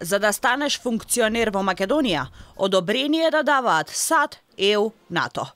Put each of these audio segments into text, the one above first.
За да станеш функционер во Македонија, одобрение да даваат САД, ЕУ, НАТО.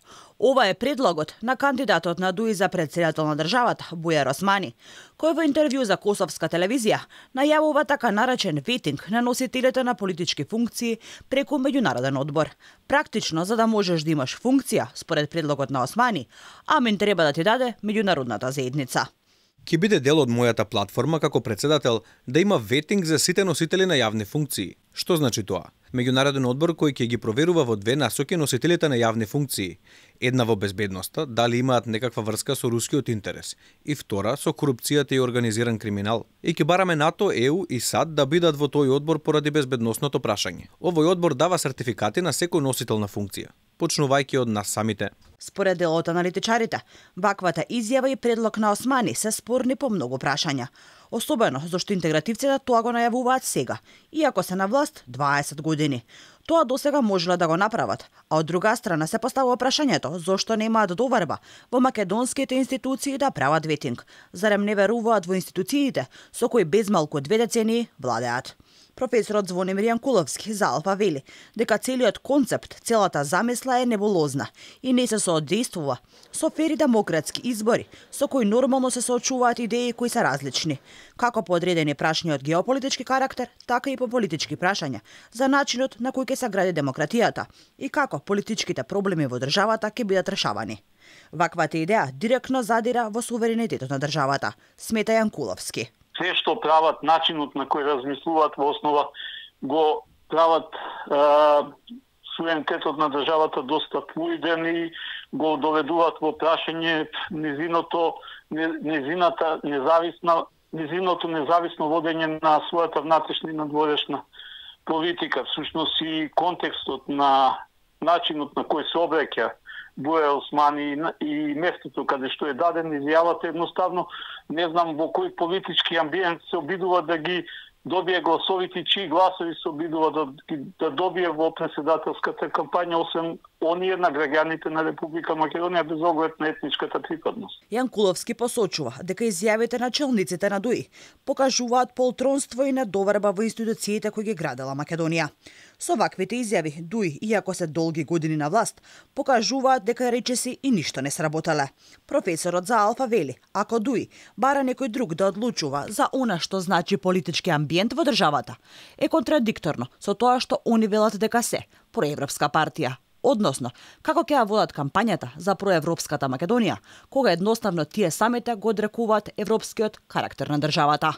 Ова е предлогот на кандидатот на ДУИ за претседател на државата, Бујар Османи, кој во интервју за Косовска телевизија најавува така наречен ветинг на носителите на политички функции преку меѓународен одбор. Практично, за да можеш да имаш функција, според предлогот на Османи, амин треба да ти даде меѓународната заедница. Ќе биде дел од мојата платформа како председател да има ветинг за сите носители на јавни функции. Што значи тоа? Меѓународен одбор кој ќе ги проверува во две насоки носителите на јавни функции. Една во безбедноста, дали имаат некаква врска со рускиот интерес, и втора со корупцијата и организиран криминал. И ќе бараме НАТО, ЕУ и САД да бидат во тој одбор поради безбедносното прашање. Овој одбор дава сертификати на секој носител на функција, почнувајќи од нас самите. Според дел од аналитичарите, ваквата изјава и предлог на Османи се спорни по многу прашања. Особено зашто интегративците тоа го најавуваат сега, иако се на власт 20 години. Тоа досега можеле да го направат, а од друга страна се поставува прашањето зошто немаат доверба во македонските институции да прават ветинг, зарем не веруваат во институциите со кои безмалку 2 децении владеат. Професорот Звонимир Јанкуловски за Алфа вели дека целиот концепт, целата замисла е небулозна и не се соодействува со фери демократски избори, со кои нормално се соочуваат идеи кои се различни, како по одредени прашања од геополитички карактер, така и по политички прашања за начинот на кој ќе се гради демократијата и како политичките проблеми во државата ќе бидат решавани. Ваквата идеја директно задира во суверенитетот на државата, смета Јанкуловски. Се што прават, начинот на кој размислуваат во основа го прават суверенитетот на државата доста флуиден и го доведуваат во прашање незиното независно водење на својата внатрешна и надворешна политика. Всушност и контекстот на начинот на кој се обраќа Бујар Османи и местото каде што е даден изјавата, едноставно не знам во кој политички амбиент се обидува да ги добие гласовите, чии гласови се обидува да добие во претседателската кампања, освен оние на граѓаните на Република Македонија без оглед на етничката припадност. Јанкуловски посочува дека изјавите на челниците на ДУИ покажуваат полтронство и недоверба во институциите кои ги градела Македонија. Со ваквите изјави ДУИ, иако се долги години на власт, покажуваат дека речиси и ништо не сработале. Професорот за Алфа вели, ако ДУИ бара некој друг да одлучува за она што значи политички амбиент во државата, е контрадикторно со тоа што они велат дека се проевропска партија. Односно, како ќе ја водат кампањата за проевропската Македонија, кога едноставно тие самите го одрекуваат европскиот карактер на државата.